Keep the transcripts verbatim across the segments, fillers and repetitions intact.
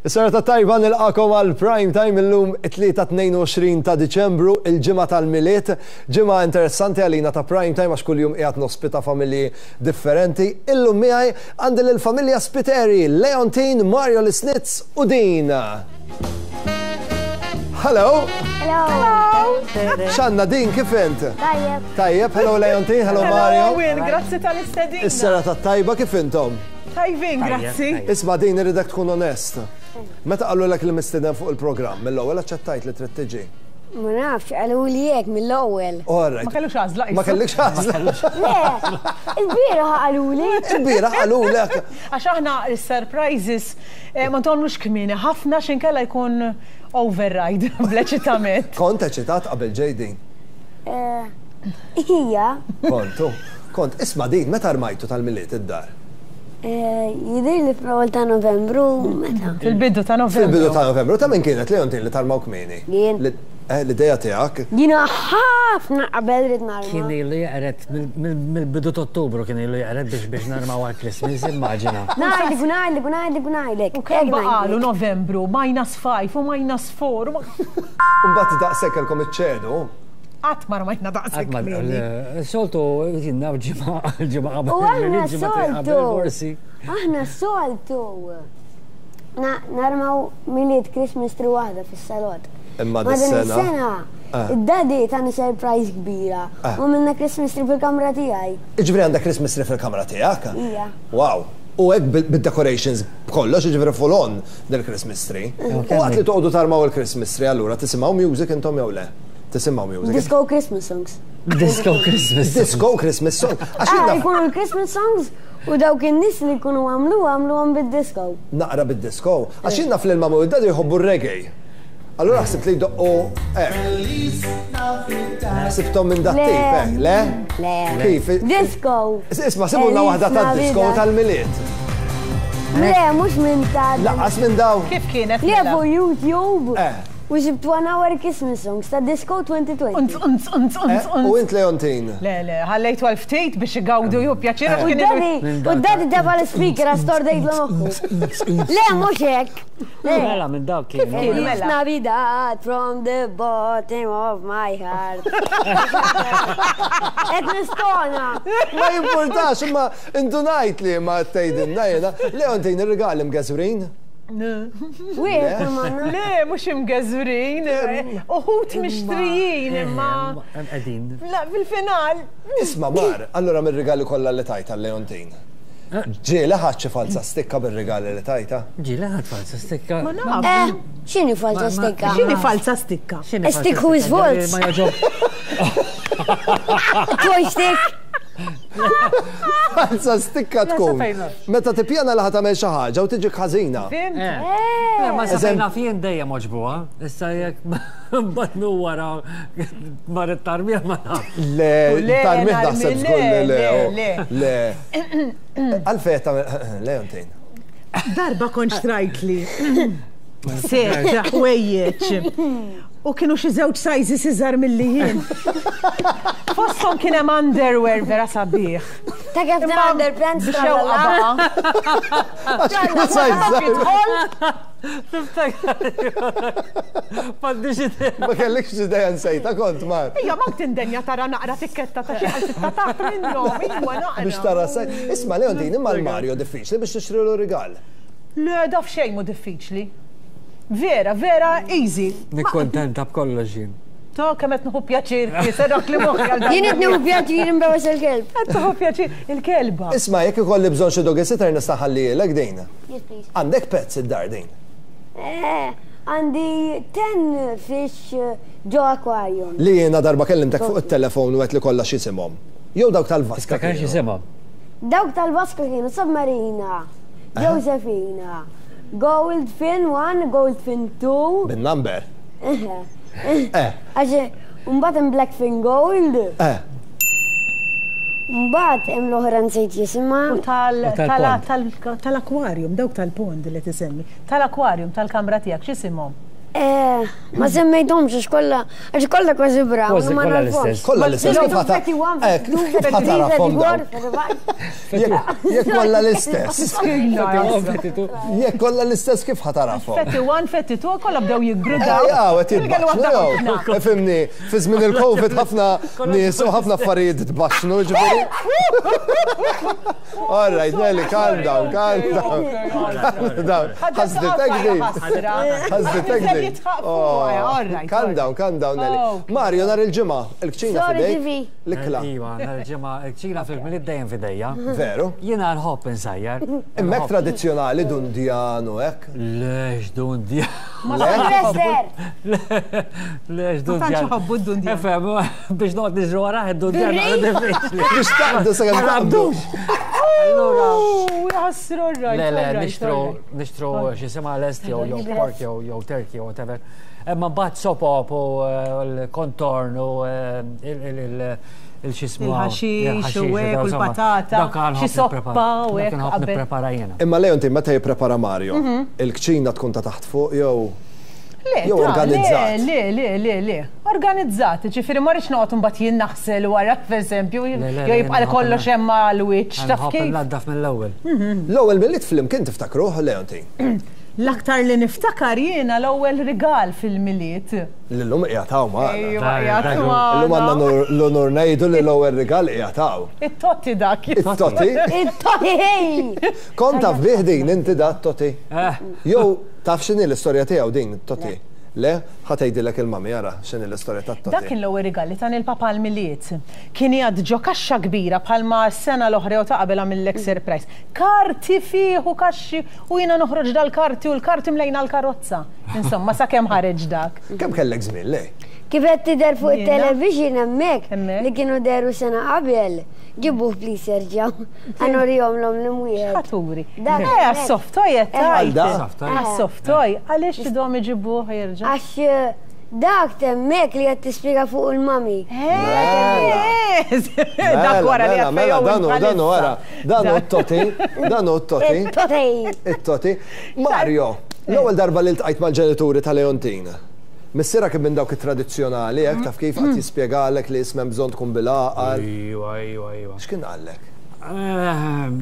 Is-serata tajba, nilqagħkom għal Prime Time illum it-tlieta tnejn u għoxrin ta' Diċembru, il-ġimgħa tal-Milied, ġimgħa interessanti għalina ta' Prime Time għax kuljum qiegħed nospita familji differenti. Illum miegħi għandi lill-familja Spiteri, Leontine, Mario Lisnitz u Din. Hello! Hello. X'għandna, Din, kif int? Tajjeb. Tajjeb, hello Leontine, hello Mario. Owen, grazzi tal-istedina. Is-serata tajba, kif intom? Tajbin, grazzi. Isma' Din, irridek tkun onest. Meta qalulek li mistieden fuq il-programm, mill-ewwel aċċettajt li trid tiġi? Ma nafx, qaluli hekk mill-ewwel. All right. Ma kellux għażla. Ma kellekx għażla. Le, il-bieraħ qaluli. Il-bieraħ qalulek. Għax aħna il-surprises eh, ma nagħmlux kmieni ħafna x'inkella jkun override bl-eċitament. Kont eċitat qabel ġej, Din? Eh, Ija, Kontu. Kont, isma' Din, meta armajtu tal-Milied id-dar? eh, jidir li fl-ewwel ta' Novembru, meta? Fil-bidu ta' Novembru. Fil-bidu ta' Novembru, ta' min kienet, Leontine, li tarmaw kmieni? Jien. Li- eh, L-ideja tiegħek? Jiena ħafna qabel rid narma. Kien ilu jaqret mill-bidu ta' Ottubru, kien ilu jaqret biex biex narmaw għal Christmas, immaġina. Ngħidlek, u ngħidlek, u ngħidlek, u ngħidlek. U kemm baqalu Novembru, minus five u minus four. Mbagħad daqshekk kellkom iċċedu. Qatt ma rmajna daqshekk kmieni. Soltu, jiena ġimgħa ġimgħa qabel. U aħna ġimgħa qabel soltu. forsi. Aħna soltu. Na- Narmaw Milied Christmas tree waħda fis-salott. Imma Ma din dis-sena? is-sena, Ah. id-daddy tani surprise kbira. Ah. U għamilna Christmas tree fil-kamra tiegħi. Iġifieri għandek Christmas tree fil-kamra tiegħek? Ija. Wow. U hekk bil- bid-decorations b'kollox, iġifieri full on del-Christmas tree. U waqt li toqgħodu tarmaw il-Christmas tree, allura tisimgħu music intom jew le? Tisimgħu music? Disco Christmas songs. Disco Christmas. Disco Christmas song. Għax Ah, jien naf- jkunu l-Christmas songs u dawk in-nies li jkunu għamlu għamlu bid-disco. Naqra bid-disco. Għax jien naf li l-mama u d-daddy jħobbu r-reggae. Allura ħsibt li jdoqqu hekk. Ħsibthom minn dat Le. tip, eh? Le? Le. Kif? Disco. Isma', sibulna waħda tad-disco tal-Milied. Le, mhux minn ta' Lanqas minn daw. Kif kienet? Le, Mela? fuq YouTube. Eh. U sibt one hour Christmas songs ta' Disco elfejn u għoxrin. Unz, unz, unz, unz, Eh, U unz. int, Leontine? Le, le, ħallejtu għal ftit biex igawdu ju pjaċir għax U kien daddy, u daddy tefa l-speaker għax tordejt l moħħu. Le, mhux hekk. Le. Mela minn dawk kienu. kienu? Mela. Mela. Navidad from the bottom of my heart. Et nistona. Ma jimpurtax, imma indunajt li ma tgħidilna jiena. Leontine, ir-rigali mgeżwrin? Wieħed manna. Le, mhux imgeżwrin, uħud mixtrijin imma. Qegħdin. La, fil-final. Isma' Mar, allura mir-rigali kollha li tajta Leontine. Ġieli ħadt xi falsa stikka bir-rigali li tajta? Ġieli ħadt falsa stikka. Ma naf. Eh, x'inhi falsa Ma- ma- stikka? X'inhi falsa stikka? X'inhi falsa Stick who is stikka? false. Ma jogħġob. Toy stick. Falsa stikka tkun. fejna. Meta tippjana li ħa tagħmel xi ħaġa u tiġi ħażina. Fhimt? Eh. Ma Eżem- safejna fien dejjem għoġbuha. Issa jekk mbagħad wara marret tarmija ma naf. Le, Le, tarmih narmi, naħseb le, żgur li le. le, oh. le. Le. Għalfejn tagħmel Leontine? Darba kont xtrajtli set ħwejjeġ. U kienu xi żewġ sizes iżgħar milli jien. Fosthom kien hemm underwear vera sabiħ. Ta' kif ta' underpants. Bixewqa baqa. Għax kienu size. Tiftakar. M'għandix idea. Ma kellekx idea, nsejta kont, Mar? Ija, ma tindenja tara naqra tikketta ta' xi għal sitta taħt minnhom. Iwa naqra. Biex tara size. Isma' Leontine, imma l-Mario diffiċli biex tixtrilu rigal? Le, daf xejn mu diffiċli. Vera, vera, easy. Nikkontenta b'kollox jien. To kemm qed nieħu pjaċir kiser dak li moħħi għal Jien qed nieħu pjaċir imbewes il-kelb. Qed tieħu pjaċir il-kelba. Isma', jekk ikolli bżonn xi doggy sitter nista' ħallielek din. Yes, please. Għandek pets id-dar, Din? Eh, għandi ten fish eh, ġo aquarium. Li jiena darba kellimtek fuq it-telefon u għedt li kollha x'isimhom. Jew dawk tal-vaska Tiftakar kienu? x'isimhom. Dawk tal-vaska kienu Submarina, Josephina, Goldfin one, Goldfin two. Bin-number. Eh, Għax mbagħad hemm Blackfin Gold, eh. mbagħad hemm l-oħra nsejt jisimha. U tal- U tal-pond. tal- tal- tal-aquarium, dawk tal-pond li tisemmi. Tal-aquarium, tal-kamra tiegħek, x'isimhom? Eh, ma semmejthomx għax kollha għax kollha kważi brown, Kważi ma kollha nafhomx. l-istess. Kollha l-istess, kif ħata- Eh, kif ħatarafhom dawn? Jekk jekk kollha l-istess. Jekk kollha l-istess kif ħatarafhom? Fetti one, fetti two, kollha bdew jikbru Eh, dawn. ja, għet jitbaxxnu, jew. Fimni, fi żmien il-Covid ħafna nies u ħafna affarijiet tbaxxnu, ġifieri. All right, Nelly, calm down, calm down. Calm down. Ħasditek din. Ħasditek din. Oh, Calm down, calm down, Nelly. Okay. Mario, nhar il-ġimgħa, il-kċina Sorry, fidejk. T V. L-ikla. Iva, nhar il-ġimgħa, il-kċina fil-Milied dejjem fidejja. Veru? Jiena nħobb insajjar. Imma hekk tradizzjonali dundjan u hekk. Lex dundjan. Professor, Lex Ma dundjan. tantx iħobbu d-dundjan. Efhem, biex noqgħod niġru warah id-dundjan naqra diffiċli. Biex taqbdu sakemm taqbdu. Allura, Jassru r-rajt. Le, le, nixtru, nixtru x'jisimha lest jew jew pork jew jew turkey jew whatever. Imma mbagħad sopop u eh, l-kontorn u eh, il- il- il- il-xismu. Il-ħaxix u hekk, u l-patata, xi soppa u hekk Nħobb qabel. nipprepara jiena. Imma Leontin, meta jipprepara Mario, il-kċina tkun ta' taħt fuq jew Le, Jew ta' organizzat. Le, le, le, le, le. Organizzat, ġifieri ma rridx noqgħod imbagħad jien naħsel wara, pereżempju, Le, le, jew le, jibqa' jien kollox nħobb- hemm għall-wiċċ, taf Nħobb kif? naddaf mill-ewwel. L-ewwel Milied flimkien tiftakruh, Leontin? L-aktar li niftakar jiena l-ewwel rigal fil-Milied. L-lum qiegħed hawn magħna. Ejwa, Dak- qiegħed dak- Illum għandna magħna. nur- l-onur ngħidu li l-ewwel rigal qiegħed hawn. It-totti dak. It-toti? it-toti! Kont taf bih din inti da t-toti? Eh, Jew taf x'inhi l-istorja tiegħu din it-toti? Le, ħa tgħidilek il-mami ara x'inhi l-istorja tat-toti. Dak kien l-ewwel rigal li tani l-papa l-Milied. Kien jgħad ġo kaxxa kbira bħalma s-sena l-oħra jew ta' qabel għamillek surprise. Karti fih u kaxxi u jiena noħroġ dal-karti u l-karti mlejna l-karozza. Insomma, sakemm ħareġ dak. Kemm kellek żmien le? Kif qed tidher fuq Jiena? it-television hemmhekk Hemmhekk. li kienu deru sena qabel, ġibuh please jerġgħu. Ħa nurihomlhom l-imwiet. Ħaturi. Dak Eh, hemmhekk. għas-soft toy qed Għal da? tgħid. Soft toy. Għas-soft toy, għaliex tidhom iġibuh jerġa'? Għax eh, dak temmek li qed tispjega fuq il-mami. Eh, Dak wara li Mela, mela, danu, danu, wara. Danu t-toti, danu t-toti, It-toti! it-toti. Mario, l-ewwel darba li ltqajt mal-ġenituri ta' Leontin. Missierha kien minn dawk it-tradizzjonali, hekk taf kif qatt jispjegalek li ismem bżonn tkun bil-għaqal. Iwa, iwa, iwa. X'kien qallek? Ehm,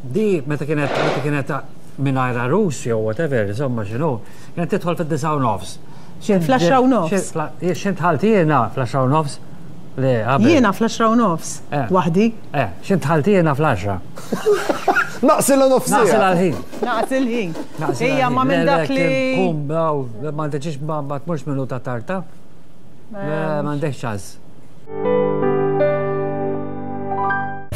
Di, meta kienet, meta kienet mingħajr għarus jew whatever, insomma x'inhu, kienet tidħol fid-disgħa u nofs. X'int- Fl-għaxra u nofs. x'int- X'int dħalt jiena fl-għaxra u nofs? Le, qabel. Jiena fl-għaxra u nofs. Eh. Waħdi. Eh, x'int dħalt jiena fl-għaxra. Naqsilha Naqsil nofsija. għal-ħin. Naqs il-ħin. Naqsil Ejja, ma għal-ħin. minn Le, le, dak li. kien Kum, daw, ma tiġix ma ma tmurx minuta tarta. Le, ma għandekx ċans.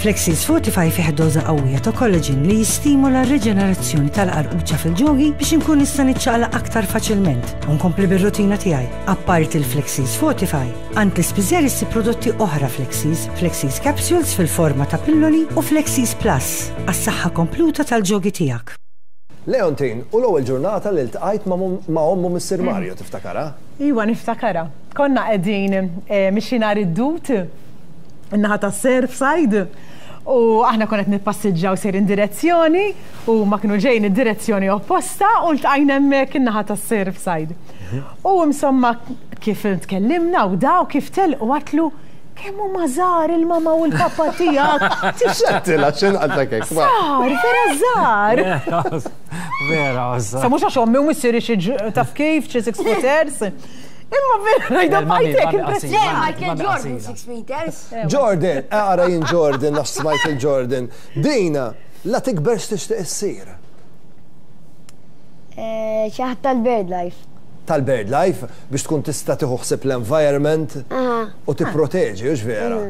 Flexis Fortify fih doża qawwija ta' collagen li jistimula r-reġenerazzjoni tal-qarquċa fil-ġogi biex inkun nista' niċċaqlaq aktar faċilment u nkompli bir-rutina tiegħi. Apparti il-Flexis Fortify, għand l-ispiżer issib prodotti oħra Flexis, Flexis Capsules fil-forma ta' pilloli u Flexis Plus għas-saħħa kompluta tal-ġogi tiegħek. Leontin, u l-ewwel ġurnata li ltqajt ma' mum- ma' ommu Missier Mario tiftakara? Iwa, niftakara. Konna qegħdin eh, mixi nhar id-dut, in-naħa ta' Surfside, u aħna konna qed nippassiġġaw sejrin direzzjoni u ma kienu ġejn id-direzzjoni opposta u ltqajna hemmhekk in-naħa ta' Surfside. U insomma kif tkellimna u daw kif telqu għedtlu kemm huma żgħar il-mama u l-papa tiegħek. X'għedtilha x'in qaltlek hekk? ma? Żgħar, vera żgħar. Vera, Sa mhux għax ommi u missieri xi ġ- taf kif, xi six footers. Imma vera ngħidha Il-mami- bajtek mami impressjoni. Le, Mami, Michael mami Jordan, qasira. six meters. Jordan, ara jien Jordan, naf smajt il-Jordan. Dina, la tikber x'tixtieq issir. Eh, Xi ħadd tal-Bird Life. Tal-Bird Life biex tkun tista' tieħu ħsieb l-environment Aha. u tipproteġi, hux vera?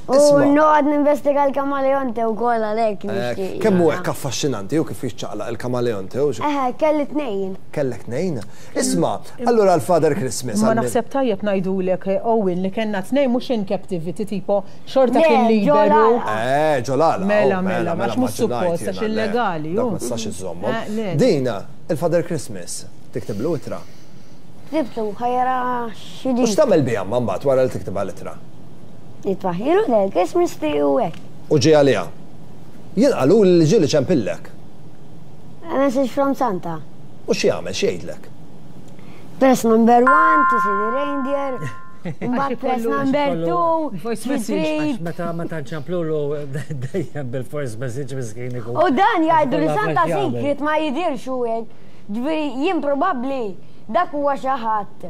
U Isma'. noqgħod ninvestiga l-kamaleonte wkoll għalhekk Eh, nixtieq. Kemm hu hekk affaxxinanti u kif jiċċaqlaq il-kamaleonte u Eħe, kelli tnejn. kellek tnejn. Isma', allura l-Father Christmas. Ma għal- naħseb tajjeb ngħidulek eh, Owen li kellna tnejn mhux in captivity tipo xorta Le, kien liberu. ġo l-għalqa. Eh, ġo l-għalqa. Mela, oh, mela, għax mhux suppost, għax illegali, Dak ju. ma tistax iżżommhom. Eh, le. Dina, il-Father Christmas, tiktiblu ittra. Ktibtu, ħa jara U x'ġi. x'tagħmel biha ma mbagħad wara li tiktibha l-ittra? Nitfaħilu del Christmas tree u hekk. U ġie għaliha. Jien qalu li ġieli ċempillek. A message from Santa. U xi jagħmel, xi jgħidlek? Press number one to see the reindeer. Mbagħad press number two, Voice to message. three. Għax meta meta nċemplulu dejjem bil-voice message miskin ikun. U dan jgħidu li Kollha Santa għax jagħmel. Secret ma jidirx u hekk. Ġifieri jien probabbli dak huwa xi ħadd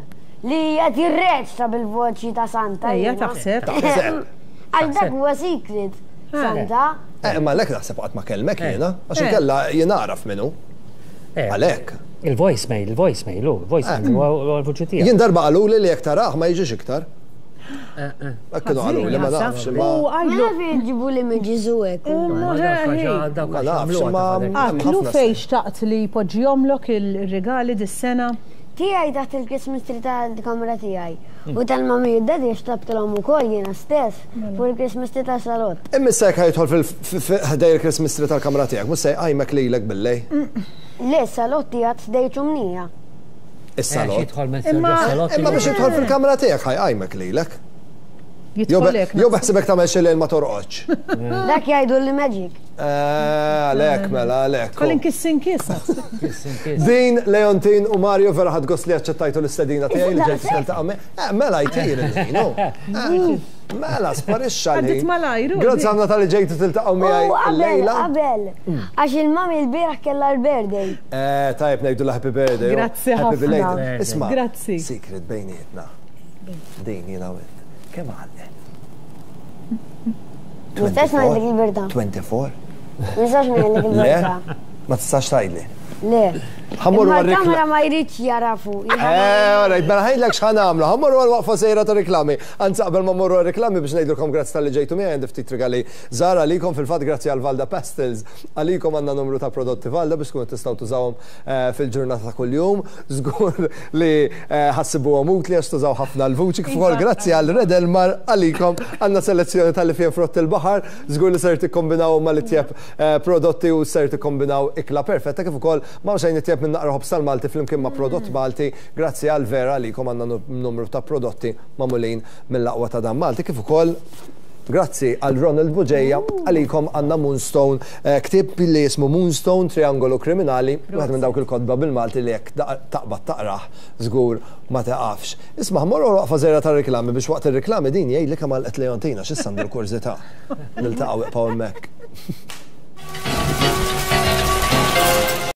li qed jirreċta bil-voċi ta' Santa. Ejja, jiena. taħseb. Taħseb. Għal dak huwa secret. Santa. Eh, ma lek naħseb qatt ma kellmek jiena, għax Eh. inkella jien nagħraf minnu. Eh, Għalhekk. Il-voicemail, il-voicemail, u il-voicemail, huwa l-vuċi tiegħek. Jien darba qaluli li jekk tarah ma jiġix iktar. Hekk kienu qaluli ma nafx U ma. Ma għajlu, naf jġibu li images u hekk. Ma Ma nafx ma. għatlu ħafna fej xtaqt li poġġihomlok il-regali dis-sena. Tiegħi taħt il-Christmas tree tal-kamra tiegħi. U tal-mami u daddy xtabtilhom ukoll jiena stess fuq il-Christmas tree tas-salott. Imma issa jekk ħa jidħol fil-ħdejn il-Christmas tree tal-kamra tiegħek, mhux se jqajmek lilek billejl. Le, s-salott tiegħek ħdejn ċumnija. Is-salott. Jidħol Imma- Imma biex jidħol fil-kamra tiegħek ħa jqajmek lilek. Jew Jidħolek. jew beħsibek tagħmel xi lejl ma torqodx. Dak jgħidu li magic. Eh, Għalhekk mela, għalhekk. Kolin kissin kis. Din, Leontin u Mario vera ħadt gost li aċċettajtu l-istedina tiegħi li ġejtu tiltaqa' miegħi. Eh, mela jtir il-ħin, oh. Eh, Mela, sparixxa Għaddit l-ħin. malajru, Grazzi di. ħafna talli ġejtu tiltaqgħu miegħi U qabel, l-lejla. qabel. Għax il-mami l-bieraħ kellha l-birthday. Eh, tajb ngħidu la happy birthday. oh. Grazzi Happy ħafna. belated. Isma' Grazzi. Secret bejnietna. Din jiena u int. Kemm għalqet? Nistax ngħidlek il-verità. twenty-four? Nistax ngħidlek Le? il-verità. Ma tistax tgħidli. Le. Ħa mmorru Imma għal-reklam. l-kamera ma jridx jarafu. Eh, alright, mela ħa ngħidlek x'ħa nagħmlu. Ħa mmorru għal waqfa żgħira ta' reklami. Anzi qabel ma mmorru għal reklami biex ngħidulkom grazzi talli ġejtu miegħi għandi ftit rigali żgħar għalikom fil-fatt grazzi għal Valda Pastels. Għalikom għandna numru ta' prodotti Valda biex tkunu tistgħu tużawhom eh, fil-ġurnata ta' kuljum. Żgur li eh, ħa ssibuhom utli għax tużaw ħafna l-vuċi kif ukoll grazzi għal Red Elmar għalikom għandna selezzjoni tal-ifjen frott il-baħar. Żgur li ser tikkombinaw mal-itjeb eh, prodotti u ser tikkombinaw ikla perfetta kif ukoll ma xejn itjeb minn naqra ħobż tal-Malti flimkien ma' prodott Malti grazzi għal Vera għalikom għandna numru ta' prodotti magħmulin mill-aqwa ta' dan Malti kif ukoll grazzi għal Ronald Bugeja għalikom għandna Moonstone, eh, ktieb li jismu Moonstone, Triangolu Kriminali, wieħed minn dawk il-kotba bil-Malti li jekk taqbad taqrah żgur ma taqafx. Isma' mmorru waqfa żgħira ta' reklami biex waqt ir-reklami din jgħidli kemm għalqet Leontina x'issa għandu l-kurżità. Niltaqgħu iqpaw hemmhekk.